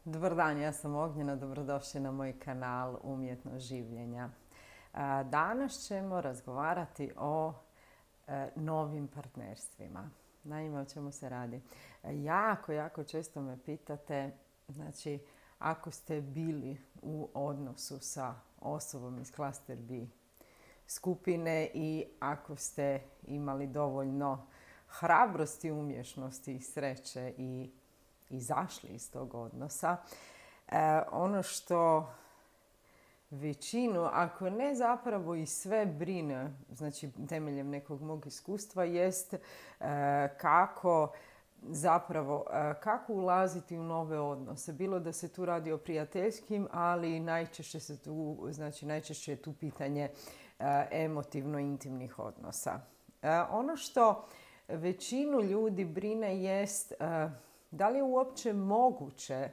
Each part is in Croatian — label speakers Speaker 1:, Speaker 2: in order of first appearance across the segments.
Speaker 1: Dobar dan, ja sam Ognjena, dobrodošli na moj kanal Umjetnost življenja. Danas ćemo razgovarati o novim partnerstvima. Naime, o čemu se radi? Jako često me pitate, znači, ako ste bili u odnosu sa osobom iz klaster B skupine i ako ste imali dovoljno hrabrosti, umješnosti i sreće i izašli iz tog odnosa. Ono što većinu, ako ne zapravo i sve brine, znači temeljem nekog mog iskustva, jest kako ulaziti u nove odnose. Bilo da se tu radi o prijateljskim, ali najčešće je tu pitanje emotivno intimnih odnosa. Ono što većinu ljudi brine jest da li je uopće moguće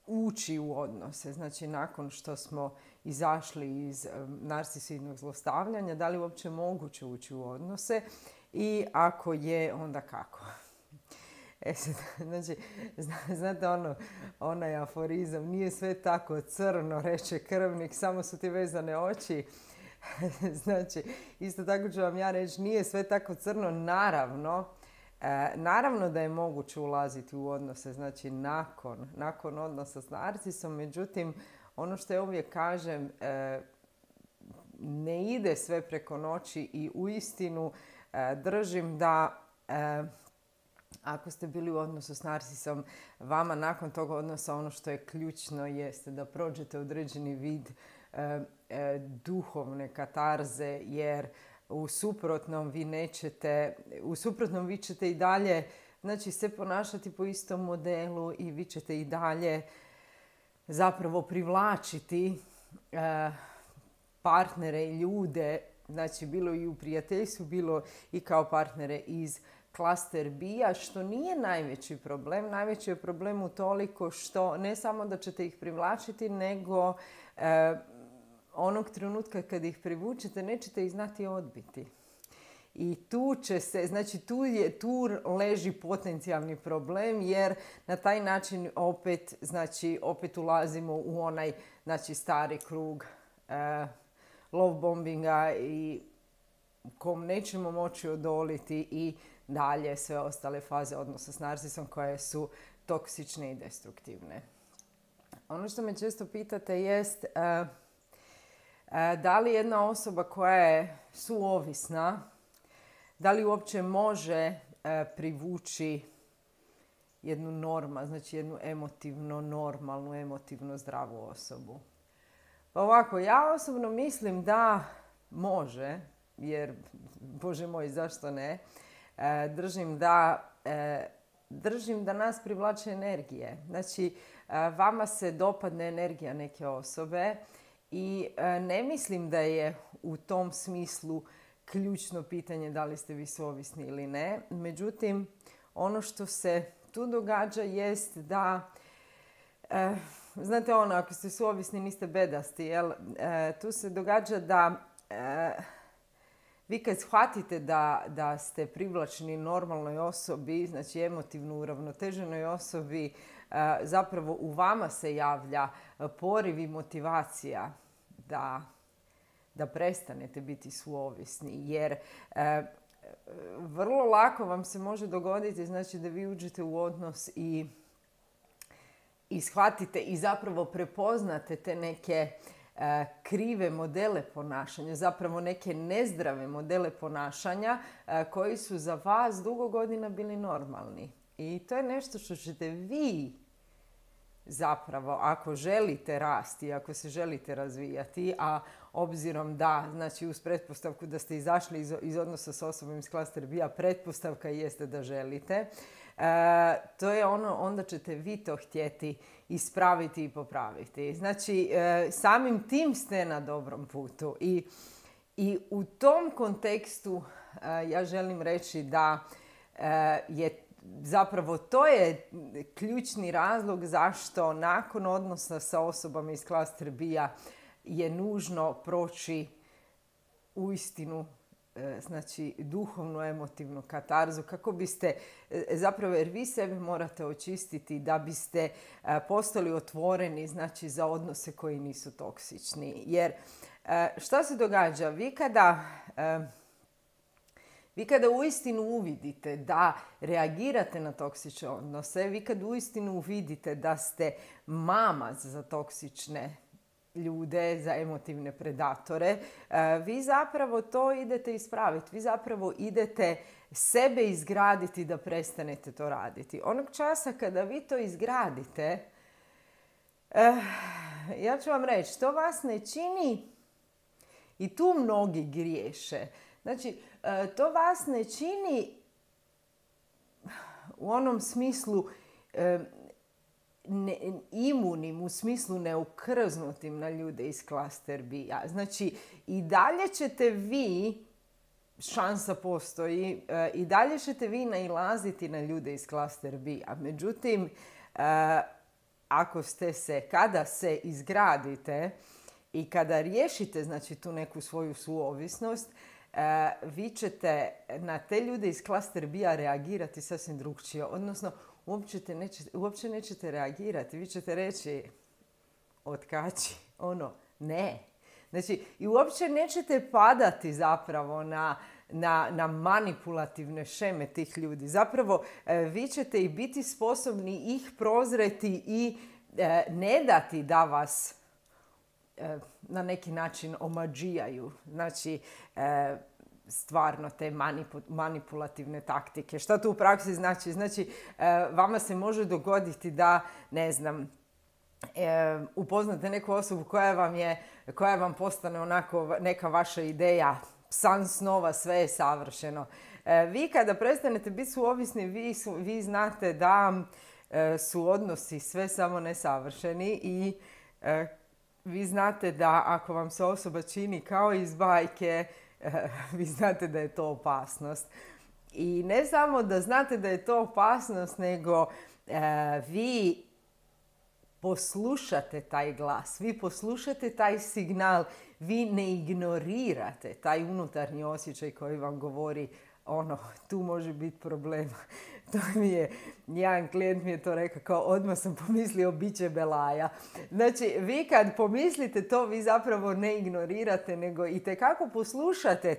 Speaker 1: ući u odnose, znači nakon što smo izašli iz narcisoidnog zlostavljanja, da li je uopće moguće ući u odnose i ako je, onda kako? Znači, znate onaj aforizam, nije sve tako crno, reče krvnik, samo su ti vezane oči. Znači, isto tako ću vam ja reći, nije sve tako crno, naravno da je moguće ulaziti u odnose, znači nakon odnosa s narcisom, međutim, ono što ja uvijek kažem, ne ide sve preko noći i uistinu držim da ako ste bili u odnosu s narcisom, vama nakon tog odnosa ono što je ključno jeste da prođete određeni vid duhovne katarze, jer u suprotnom vi ćete i dalje, znači, se ponašati po istom modelu i vi ćete i dalje zapravo privlačiti partnere i ljude, znači bilo i u prijateljstvu, bilo i kao partnere iz klaster B-a, što nije najveći problem. Najveći je problem utoliko što ne samo da ćete ih privlačiti, nego onog trenutka kad ih privučete nećete ih znati odbiti. I tu leži potencijalni problem, jer na taj način opet ulazimo u onaj, znači, stari krug love bombinga i kom nećemo moći odoliti i dalje sve ostale faze odnosa s narcisom koje su toksične i destruktivne. Ono što me često pitate jest da li jedna osoba koja je suovisna, da li uopće može privući jednu jednu emotivno normalnu, emotivno zdravu osobu. Pa ovako, ja osobno mislim da može, jer, Bože moj, zašto ne? Držim da nas privlače energije. Znači, vama se dopadne energija neke osobe i ne mislim da je u tom smislu ključno pitanje da li ste vi suovisni ili ne. Međutim, ono što se tu događa jest da, znate ako ste suovisni niste bedasti, jel? Tu se događa da vi kad shvatite da ste privlačni normalnoj osobi, znači emotivno uravnoteženoj osobi, zapravo u vama se javlja poriv i motivacija da prestanete biti suovisni. Jer vrlo lako vam se može dogoditi, znači, da vi uđete u odnos i shvatite i zapravo prepoznate te neke krive modele ponašanja, zapravo neke nezdrave modele ponašanja koji su za vas dugo godina bili normalni. I to je nešto što ćete vi zapravo, ako želite rasti, ako se želite razvijati, a obzirom da, znači, uz pretpostavku da ste izašli iz odnosa s osobom iz klaster B-a, pretpostavka jeste da želite, to je onda ćete vi to htjeti ispraviti i popraviti. Znači, samim tim ste na dobrom putu. I u tom kontekstu ja želim reći da je zapravo to je ključni razlog zašto nakon odnosa sa osobama iz klaster B-a je nužno proći uistinu znači duhovnu emotivnu katarzu, kako biste zapravo, jer vi sebe morate očistiti da biste postali otvoreni, znači za odnose koji nisu toksični. Jer šta se događa? Vi kada uistinu uvidite da reagirate na toksične odnose, vi kad uistinu uvidite da ste mamac za toksične ljude, za emotivne predatore, vi zapravo to idete ispraviti. Vi zapravo idete sebe izgraditi da prestanete to raditi. Onog časa kada vi to izgradite, ja ću vam reći, to vas ne čini, i tu mnogi griješe. Znači, to vas ne čini u onom smislu imunim, u smislu neukrznutim na ljude iz klaster B-a. Znači, i dalje ćete vi, šansa postoji, i dalje ćete vi nailaziti na ljude iz klaster B-a. Međutim, kada se izgradite i kada riješite, znači, tu neku svoju suovisnost, vi ćete na te ljude iz klaster B-a reagirati sasvim drugčije. Odnosno, uopće nećete reagirati. Vi ćete reći, otkači, ne. Znači, i uopće nećete padati zapravo na manipulativne šeme tih ljudi. Zapravo, vi ćete i biti sposobni ih prozreti i ne dati da vas na neki način omađijaju. Znači, stvarno te manipulativne taktike. Šta to u praksi znači? Znači, vama se može dogoditi da, ne znam, upoznate neku osobu koja vam postane onako neka vaša ideja, san snova, sve je savršeno. Vi kada prestanete biti suovisni, vi znate da su odnosi sve samo nesavršeni i vi znate da ako vam se osoba čini kao iz bajke, vi znate da je to opasnost. I ne samo da znate da je to opasnost, nego vi poslušate taj glas, vi poslušate taj signal, vi ne ignorirate taj unutarnji osjećaj koji vam govori tu može biti problem. To jedan klijent mi je to rekao, kao odmah sam pomislio bit će belaja. Znači, vi kad pomislite to, vi zapravo ne ignorirate, nego itekako poslušate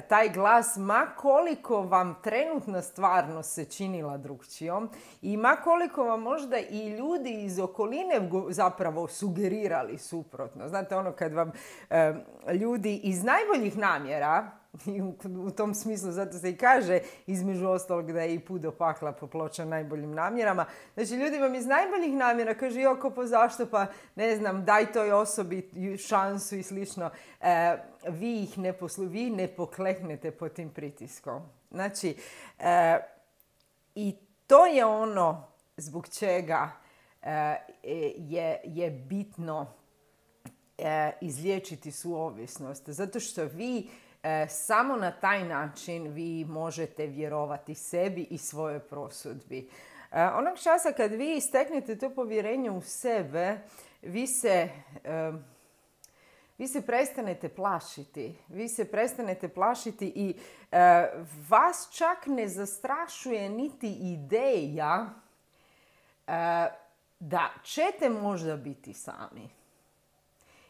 Speaker 1: taj glas, ma koliko vam trenutna stvarnost se činila drugčijom i ma koliko vam možda i ljudi iz okoline zapravo sugerirali suprotno. Znate, kad vam ljudi iz najboljih namjera, u tom smislu, zato se i kaže između ostalog da je i put do pakla popločan najboljim namjerama. Znači, ljudi vam iz najboljih namjera kaže, zašto, pa ne znam, daj toj osobi šansu i slično. Vi ne pokleknete pod tim pritiskom. Znači, i to je ono zbog čega je bitno izliječiti suovisnost. Zato što vi samo na taj način vi možete vjerovati sebi i svojoj prosudbi. Onog časa kad vi steknete to povjerenje u sebe, vi se prestanete plašiti. Vi se prestanete plašiti i vas čak ne zastrašuje niti ideja da ćete možda biti sami.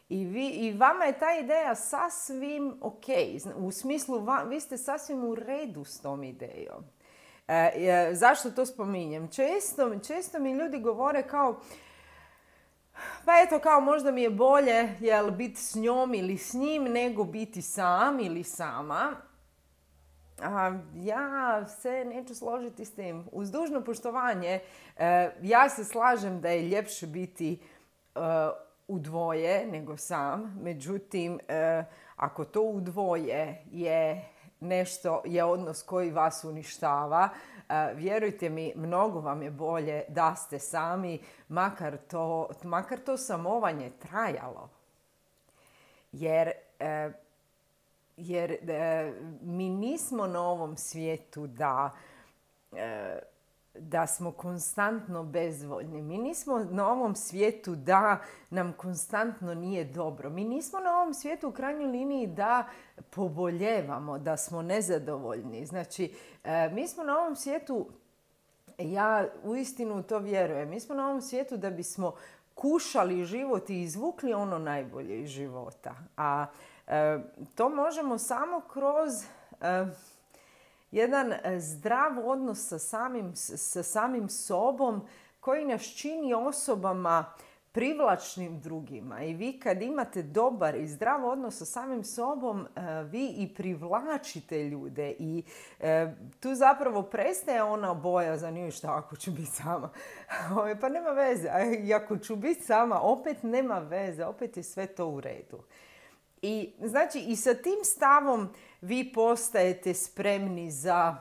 Speaker 1: I vama je ta ideja sasvim ok. U smislu, vi ste sasvim u redu s tom idejom. Zašto to spominjem? Često mi ljudi govore kao, pa eto, kao možda mi je bolje biti s njom ili s njim nego biti sam ili sama. Ja se neću složiti s tim. Uz dužno poštovanje, ja se slažem da je ljepše biti u dvoje nego sam. Međutim, ako to u dvoje je odnos koji vas uništava, vjerujte mi, mnogo vam je bolje da ste sami, makar to samovanje trajalo. Jer mi nismo na ovom svijetu da smo konstantno bezvoljni. Mi nismo na ovom svijetu da nam konstantno nije dobro. Mi nismo na ovom svijetu u krajnjoj liniji da poboljevamo, da smo nezadovoljni. Znači, mi smo na ovom svijetu, ja uistinu u to vjerujem, mi smo na ovom svijetu da bismo kušali život i izvukli ono najbolje iz života. A to možemo samo kroz jedan zdrav odnos sa samim sobom koji nas čini osobama privlačnim drugima. I vi kad imate dobar i zdrav odnos sa samim sobom, vi i privlačite ljude. I tu zapravo prestaje ona bojazan, i šta ako ću biti sama? Pa nema veze. I ako ću biti sama, opet nema veze. Opet je sve to u redu. I znači i sa tim stavom vi postajete spremni za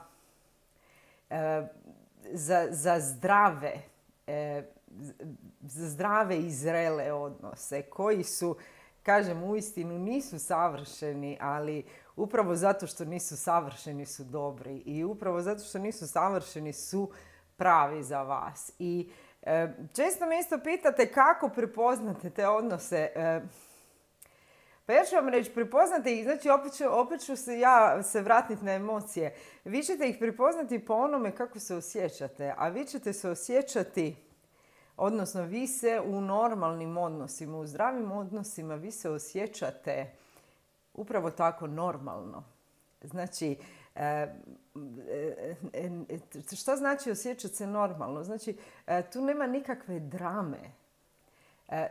Speaker 1: zdrave i zrele odnose koji su, kažem, uistinu nisu savršeni, ali upravo zato što nisu savršeni su dobri i upravo zato što nisu savršeni su pravi za vas. I često me isto pitate kako prepoznate te odnose. Pa ja ću vam reći, prepoznate ih, znači opet ću se vratiti na emocije. Vi ćete ih prepoznati po onome kako se osjećate, a vi ćete se osjećati, odnosno vi se u normalnim odnosima, u zdravim odnosima, vi se osjećate upravo tako normalno. Znači, što znači osjećati se normalno? Znači, tu nema nikakve drame.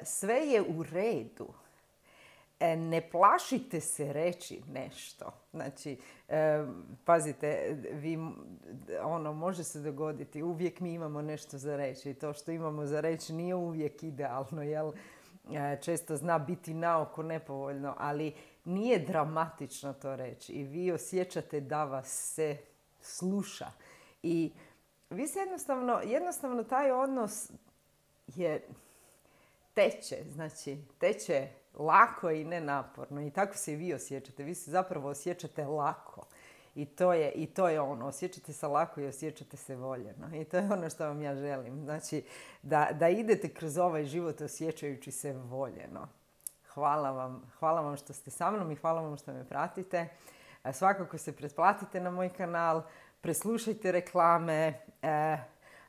Speaker 1: Sve je u redu. Ne plašite se reći nešto. Znači, pazite, može se dogoditi. Uvijek mi imamo nešto za reći. I to što imamo za reći nije uvijek idealno, jel? Često zna biti naoko nepovoljno, ali nije dramatično to reći. I vi osjećate da vas se sluša. I vi se jednostavno taj odnos je teče lako i nenaporno. I tako se i vi osjećate. Vi se zapravo osjećate lako. I to je ono. Osjećate se lako i osjećate se voljeno. I to je ono što vam ja želim. Znači, da idete kroz ovaj život osjećajući se voljeno. Hvala vam što ste sa mnom i hvala vam što me pratite. Svakako se pretplatite na moj kanal. Preslušajte reklame.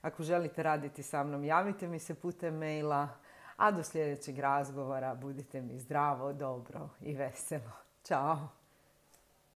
Speaker 1: Ako želite raditi sa mnom, javite mi se putem maila. A do sljedećeg razgovora budite mi zdravo, dobro i veselo. Ćao!